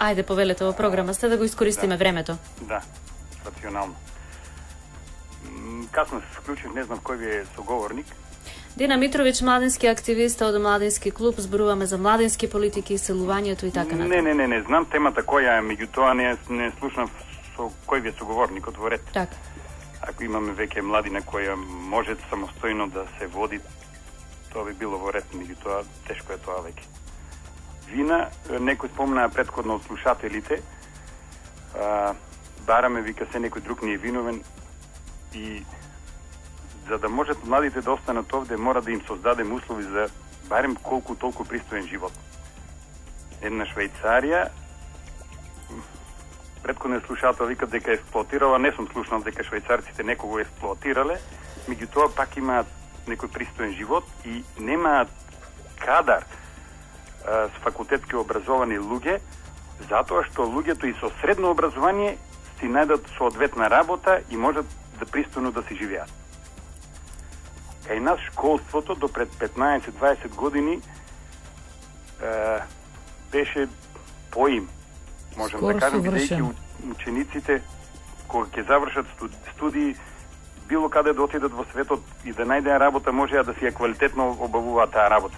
Ајде, повелете во програма сте да го искористиме времето. Да, рационално. Касно се вклучив, не знам кој ви е соговорник. Дина Митровиќ, младински активист од Младински клуб, зборуваме за младински политики, селувањето и така натаму. Не, знам темата која е, меѓутоа не слушнав со кој ви е соговорникот во ред. Така. Ако имаме веќе младина која може самостојно да се води, тоа би било во ред, меѓутоа тешко е тоа веќе. Вина, некој спомнаа претходно од слушателите, бараме, вика, се некој друг не е виновен и за да можат младите да останат овде, мора да им создадем услови за барем колку толку пристоен живот. Една Швајцарија, претходниот слушател вика дека експлоатирала, не сум слушнал дека швајцарците некого експлоатирале, меѓутоа пак имаат некој пристоен живот и немаат кадар с факултетски образовани луѓе, затоа што луѓето и со средно образование си најдат соодветна работа и можат да пристојно да си живеат. Кај нас школството до пред 15-20 години беше поим. Можем скоро да кажем, бидејќи учениците кога ќе завршат студии, било каде да отидат во светот и да најдеа работа, можеа да си ја квалитетно обавуваат таа работа.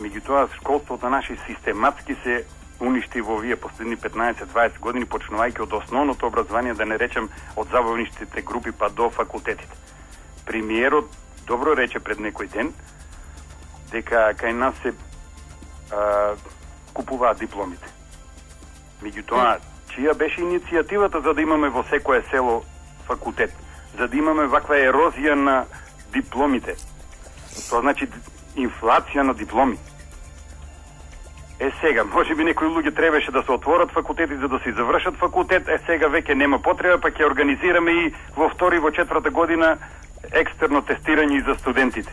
Меѓутоа, школството наши систематски се уништи во овие последни 15-20 години, почнувајќи од основното образование, да не речем од забавничките групи па до факултетите. Премиерот добро рече пред некој ден дека кај нас се купуваат дипломите. Меѓутоа, чија беше иницијативата за да имаме во секое село факултет? За да имаме ваква ерозија на дипломите. Тоа значи инфлација на дипломи. Сега, може би некои луѓе требаше да се отворат факултети за да се завршат факултет, сега веќе нема потреба, па ќе организираме и во втори, во четврта година екстерно тестирање и за студентите.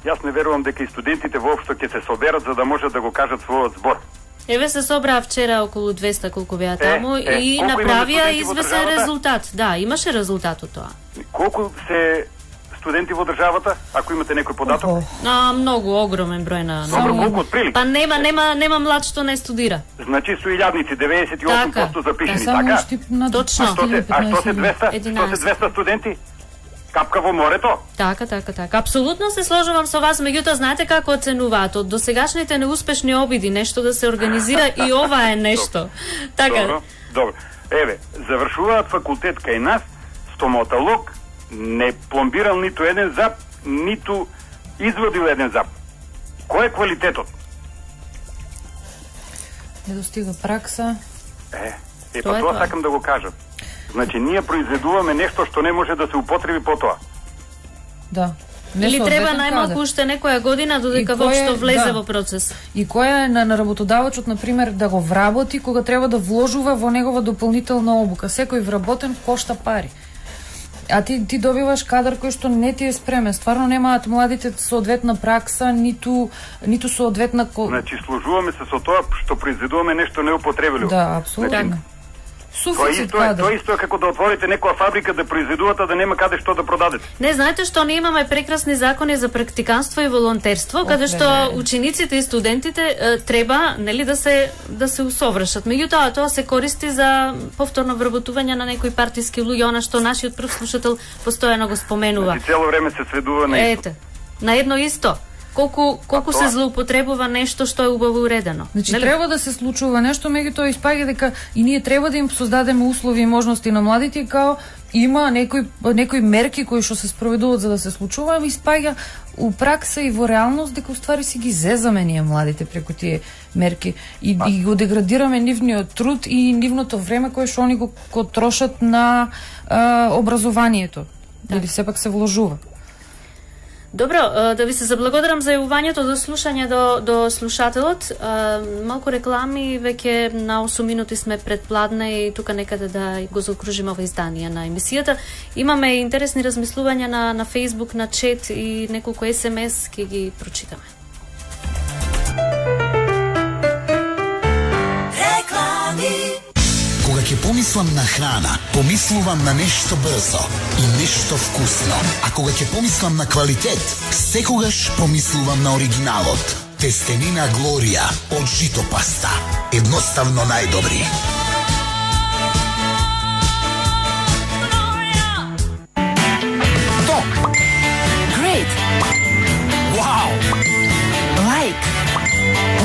Јас не верувам дека и студентите воопшто ќе се соберат за да можат да го кажат својот збор. Еве се собраа вчера околу 200 колку беа таму и направија известен резултат. Да, имаше резултат од тоа. Колку се студенти во државата, ако имате некој податок? Многу, огромен број на... Добро, колку отприлика? Па нема млад што не студира. Значи со илјадници 98% запишени, така? Точно. А што се 200 студенти? Капка во морето? Така. Апсолутно се сложувам со вас, меѓутоа знаете како оценуваат од досегашните неуспешни обиди нешто да се организира и ова е нешто. Така. Добро. Еве, завршуваат факултет кај нас, стоматолог, не пломбирал ниту еден зап, ниту изводил еден зап. Кој е квалитетот? Не достига пракса. Па тоа сакам да го кажам. Значи, ние произведуваме нешто што не може да се употреби потоа. Да. Или треба најмалку уште некоја година додека воопшто влезе во процес. И која е на работодавачот, например, да го вработи кога треба да вложува во негова дополнителна обука. Секој вработен кошта пари. А ти добиваш кадар кој што не ти е спремен. Стварно немаат младите соодветна пракса, ниту соодветна... Значи, служуваме се со тоа што произведуваме нешто неупотребливо. Да, апсолутно. Тоа исто е како да отворите некоја фабрика да произведувате, да нема каде што да продадете. Не, знаете што ние имаме прекрасни закони за практиканство и волонтерство, каде што учениците и студентите треба, нели, да се усовршат. Меѓутоа тоа се користи за повторно вработување на некои партиски луѓе, она што нашиот прв слушател постојано го споменува. Значи цело време се сведува на исто. На едно исто. Колку се злоупотребува нешто што е убаво уредено. Значи треба да се случува нешто, меѓутоа испаѓа дека и ние треба да им создадеме услови и можности на младите, као има некои мерки кои што се спроведуваат за да се случува, испаѓа у пракса и во реалност дека уствари си ги зезаме ние младите преку тие мерки и го деградираме нивниот труд и нивното време кое што они го трошат на образованието. Или сепак се вложува. Добро, да ви се заблагодарам за јавувањето, до слушање до слушателот. Малку реклами, веќе на 8 минути сме пред пладне и тука некаде да го заокружиме ова издание на емисијата. Имаме интересни размислувања на Facebook, на чет и неколку SMS, ќе ги прочитаме. Кога ќе помислам на храна, помислувам на нешто брзо и нешто вкусно. А кога ќе помислам на квалитет, секогаш помислувам на оригиналот. Тестенина Глорија од жито паста. Едноставно најдобри. Топ. Great. Вау! Like.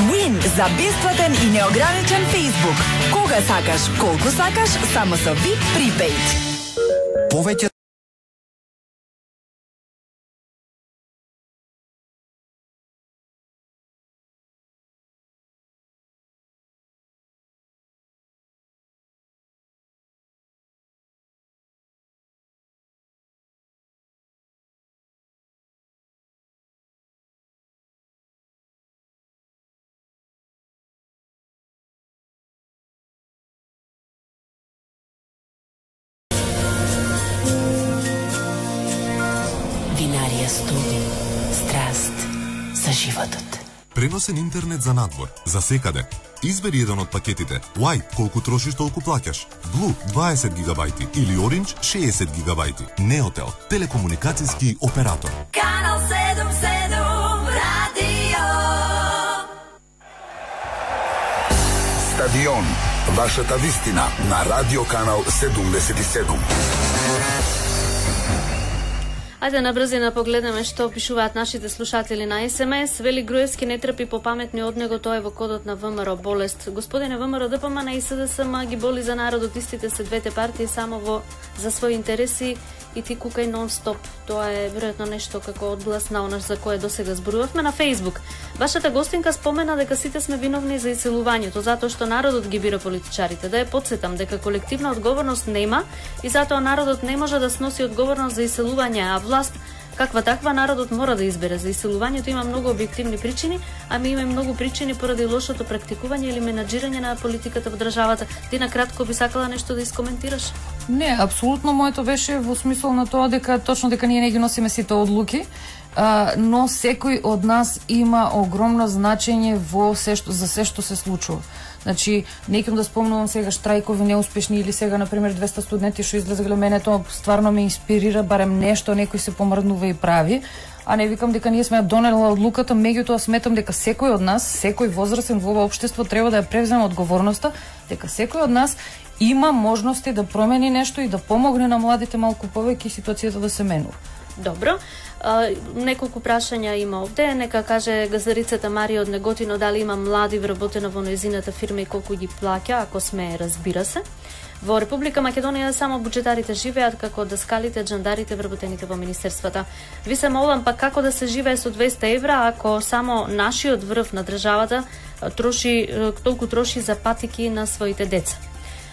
Win за бесплатен и неограничен Facebook. Кога сакаш, колку сакаш, само со VIP Prepaid. Повеќе Винарија Студио. Страст за животот. Преносен интернет за надвор, за секаде. Избери еден од пакетите. White, колку трошиш, толку плаќаш. Blue, 20 гигабајти или Orange, 60 гигабајти. Неотел, телекомуникацијски оператор. Канал 77 радио. Стадион. Вашата вистина на Радио Канал 77. Ајде на брзина погледнеме што пишуваат нашите слушатели на СМС. Вели Груевски не трпи попаметни од него, тоа е во кодот на ВМРО болест. Господине ВМРО, ДПМН и СДСМ ги боли за народот, истите се двете партии само за своји интереси и ти кукај нон-стоп. Тоа е веројатно нешто како одглас на онаш за кое досега зборувавме на Facebook. Вашата гостинка спомена дека сите сме виновни за иселувањето, затоа што народот ги бира политичарите. Да ја потсетам дека колективна одговорност нема и затоа народот не може да сноси одговорност за иселување, а власт каква таква народот мора да избере. За иселувањето има многу објективни причини, а ми има многу причини поради лошото практикување или менаџирање на политиката во државата. Ти на кратко би сакала нешто да искоментираш? Не, апсолутно моето беше во смисол на тоа дека точно дека ние не ги носиме сите одлуки, но секој од нас има огромно значење за се што се случува. Значи, некам да спомнувам сега штрајкови неуспешни или сега, например, 200 студенти што излезгале, мене тоа стварно ме инспирира, барем нешто некој се помрднува и прави, а не викам дека ние сме донела одлуката, меѓутоа сметам дека секој од нас, секој возрастен во ова општество треба да ја превземе одговорноста, дека секој од нас има можности да промени нешто и да помогне на младите малку повеќе ситуацијата да се менува. Добро. Неколку прашања има овде. Нека каже газарицата Марија од Неготино дали има млади вработено во нејзината фирма и колку ги плаќа, ако сме, разбира се. Во Република Македонија само буџетарите живеат како даскалите, джандарите вработените во министерствата. Ви се молам па како да се живее со 200 евра ако само нашиот врв на државата толку троши за патики на своите деца.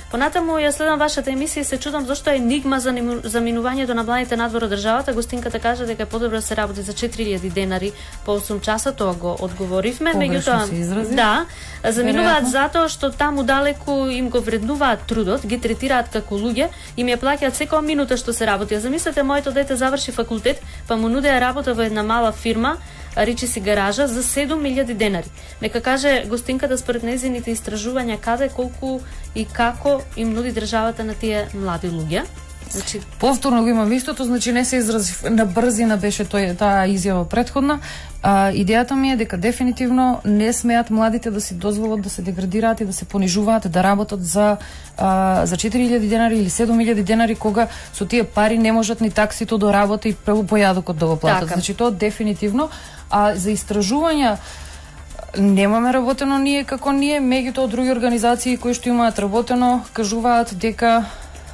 Понатаму ја следам вашата емисија и се чудам зошто е енигма за заминувањето на младите надвор од државата. Гостинката кажа дека е подобро се работи за 4000 денари по 8 часа, тоа го одговоривме. Меѓутоа, да, заминуваат затоа што таму далеку им го вреднуваат трудот, ги третираат како луѓе, им ја плаќаат секоја минута што се работи. Замислете, моето дете заврши факултет, па му нудеа работа во една мала фирма, речи си гаража, за 7000 денари. Нека каже гостинката според нејзините истражувања каде, колку и како им нуди државата на тие млади луѓе. Значи, повторно го имам истото, значи не се изразив на брзина, беше таа изјава претходна. Идејата ми е дека дефинитивно не смеат младите да си дозволат да се деградираат и да се понижуваат, да работат за 4000 денари или 7000 денари, кога со тие пари не можат ни таксито до работа и појадокот да го платат. Така. Значи тоа дефинитивно. А за истражувања немаме работено ние како ние, меѓутоа други организации кои што имаат работено кажуваат дека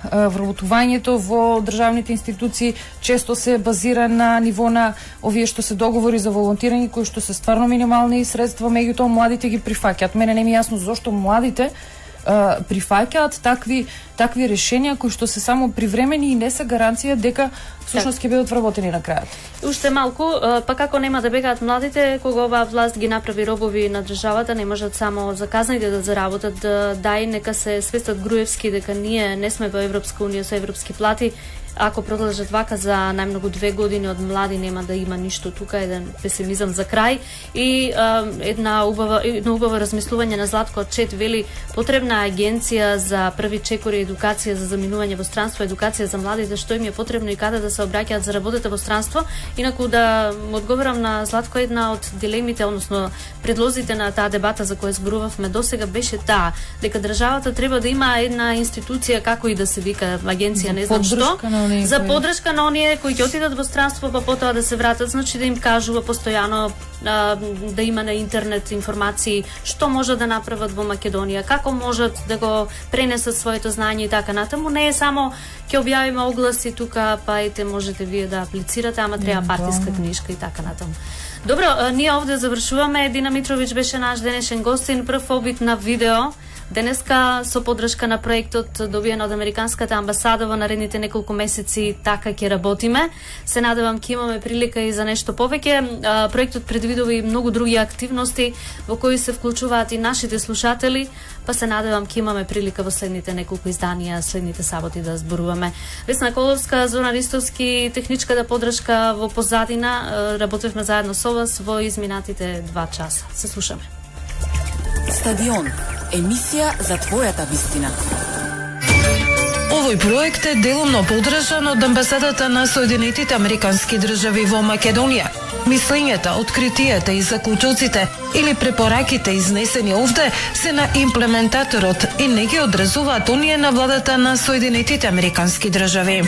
вработувањето во државните институции често се базира на ниво на овие што се договори за волонтирање кои што се стварно минимални средства, меѓутоа младите ги прифаќаат. Мене не ми е јасно зошто младите прифаќаат такви решенија кои што се само привремени и не се гаранција дека всушност ќе бидат вработени на крајот. Уште малку, па како нема да бегаат младите кога оваа власт ги направи робови на државата, не можат само заказаните да заработат, дај нека се свестат Груевски дека ние не сме во Европска унија со европски плати. Ако продолжат вака за најмногу 2 години од млади нема да има ништо тука, еден песимизам за крај и едно убаво размислување на Златко Чет вели потребна агенција за први чекори, едукација за заминување во странство, едукација за младите, што им е потребно и каде да се обраќаат за работата во странство. Инаку да му одговорам на Златко, една од дилемите, односно предлозите на таа дебата за која зборувавме досега беше таа, дека државата треба да има една институција, како и да се вика, агенција, не знам што, за поддршка на оние кои ќе отидат во странство, па потоа да се вратат, значи да им кажува постојано, да има на интернет информации што може да направат во Македонија, како можат да го пренесат своето знање и така натаму. Не е само ќе објавиме огласи тука, па ете можете вие да аплицирате, ама треба партиска книжка и така натаму. Добро, ние овде завршуваме. Дина Митровиќ беше наш денешен гостин, прв обид на видео. Денеска со поддршка на проектот добиен од Американската амбасада во наредните неколку месеци така ќе работиме. Се надевам ќе имаме прилика и за нешто повеќе. Проектот предвидува и многу други активности во кои се вклучуваат и нашите слушатели, па се надевам ќе имаме прилика во следните неколку изданија, следните саботи да зборуваме. Весна Коловска, Зоран Ристовски, техничката поддршка во позадина, работевме заедно со вас во изминатите 2 часа. Се слушаме. Стадион. Емисија за твојата вистина. Овој проект е делумно поддржан од Амбасадата на Соединетите Американски држави во Македонија. Мислењата, откритијата и заклучоците или препораките изнесени овде се на имплементаторот и не ги одразуваат оние на владата на Соединетите Американски држави.